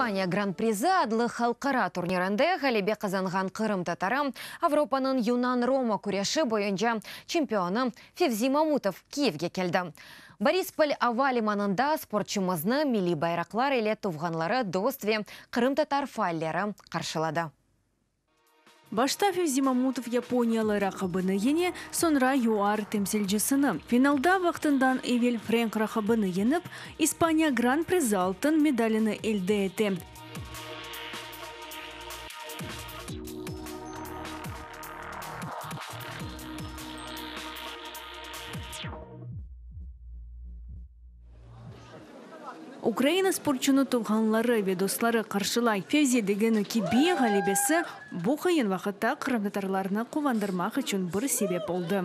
İspaniya Gran-prizi adlı halqara turnirinde ğalebe qazanğan qırımtatarı, Avropanıñ yunan-roma küreşi boyunca çempionı Fevzi Mamutov Kiyevge keldi. Borispol ava limanında sportçumıznı milliy bayraqlar ile tuvğanları, dost ve qırımtatar faalleri qarşıladı. Başta Fevzi Mamutov yaponiyalı raqibini yeñe, soñra YUAR temsilcisini. Finalda vaqtından evel frenk raqibini yeñip, İspaniya Gran-prizi altın medalini elde ete. Ukraina sportçunı tuvğanları ve dostları qarşılay. Fevzi degeni kibi, ğalebesi bu qıyın vaqıtta qırımtatarlarnı quvandırmaq içün bir sebep oldı.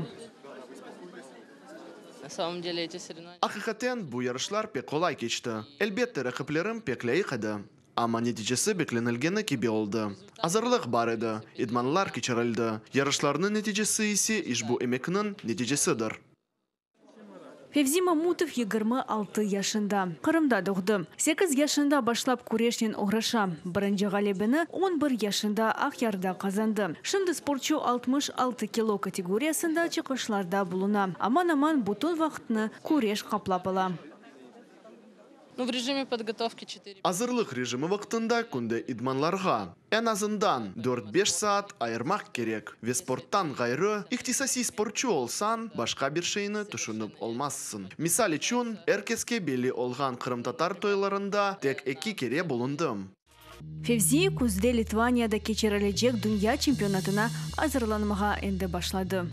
Aqiqaten, bu yarışlar pek qolay keçti. Elbette, raqiplerim pek lâyıq edi. Amma neticesi beklenilgeni kibi oldı. Azırlıq bar edi, idmanlar keçirildi. Yarışlarnıñ neticesi ise işbu emekniñ neticesidir. Fevzi Mamutov 26 yaşında. Qırımda doğdı. Sekiz yaşında başlap küreşnen oğraşa. Birinci ğalebeni on bir yaşında Aqyarda qazandı. Şimdi sportçu 66 kilo kategoriyasında çıqışlarda buluna. Aman-aman bütün vaqıtnı küreş qaplap ala. Azırlıq rejimi vaqtında künde idmanlarğa, eñ azından, dört-beş saat ayırmaq kerek ve sporttan ğayrı, ihtisasiy sportçu olsañ, başqa bir şeyni tüşünip olmazsıñ. Misal içün, er keske belli olğan qırımtatar toylarında tek eki kere bulundım. Fevzi küzde Litvaniyada keçirilecek dünya çempionatına azırlanmağa endi başladı.